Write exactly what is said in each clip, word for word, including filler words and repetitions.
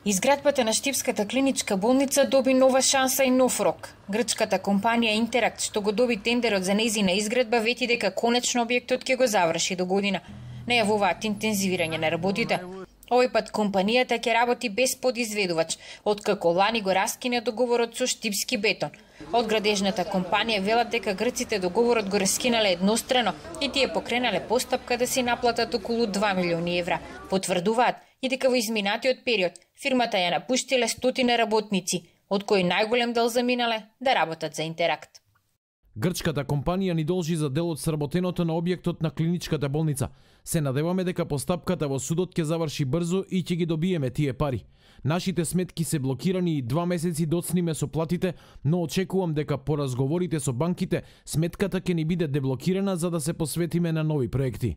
Изградбата на Штипската клиничка болница доби нова шанса и нов рок. Грчката компанија Интеракт, што го доби тендерот за нејзина изградба, вети дека конечно објектот ќе го заврши до година. Најавуваат интензивирање на работите. Овој пат компанијата ќе работи без подизведувач, откако лани го раскина договорот со Штипски бетон. Од градежната компанија велат дека грците договорот го раскинале еднострано и тие покренале постапка да си наплатат околу два милиони евра. Потврдуваат и дека во изминатиот период фирмата ја напуштиле стотина работници, од кои најголем дел заминале да работат за Интеракт. Грчката компанија ни должи за дел од сработеното на објектот на клиничката болница. Се надеваме дека постапката во судот ќе заврши брзо и ќе ги добиеме тие пари. Нашите сметки се блокирани и два месеци доцниме со платите, но очекувам дека по разговорите со банките сметката ќе ни биде деблокирана за да се посветиме на нови проекти.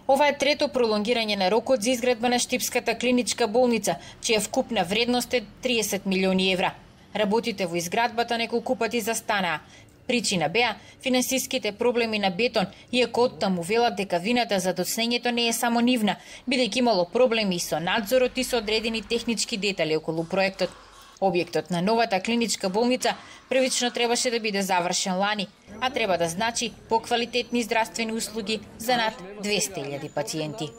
Ова е трето пролонгирање на рокот за изградба на Штипската клиничка болница, чија вкупна вредност е триесет милиони евра. Работите во изградбата неколку пати застанаа. Причина беа финансиските проблеми на Бетон, иако оттаму велат дека вината за доцнењето не е само нивна, бидејќи имало проблеми и со надзорот и со одредени технички детали околу проектот. Објектот на новата клиничка болница првично требаше да биде завршен лани, а треба да значи поквалитетни здравствени услуги за над двесте илјади пациенти.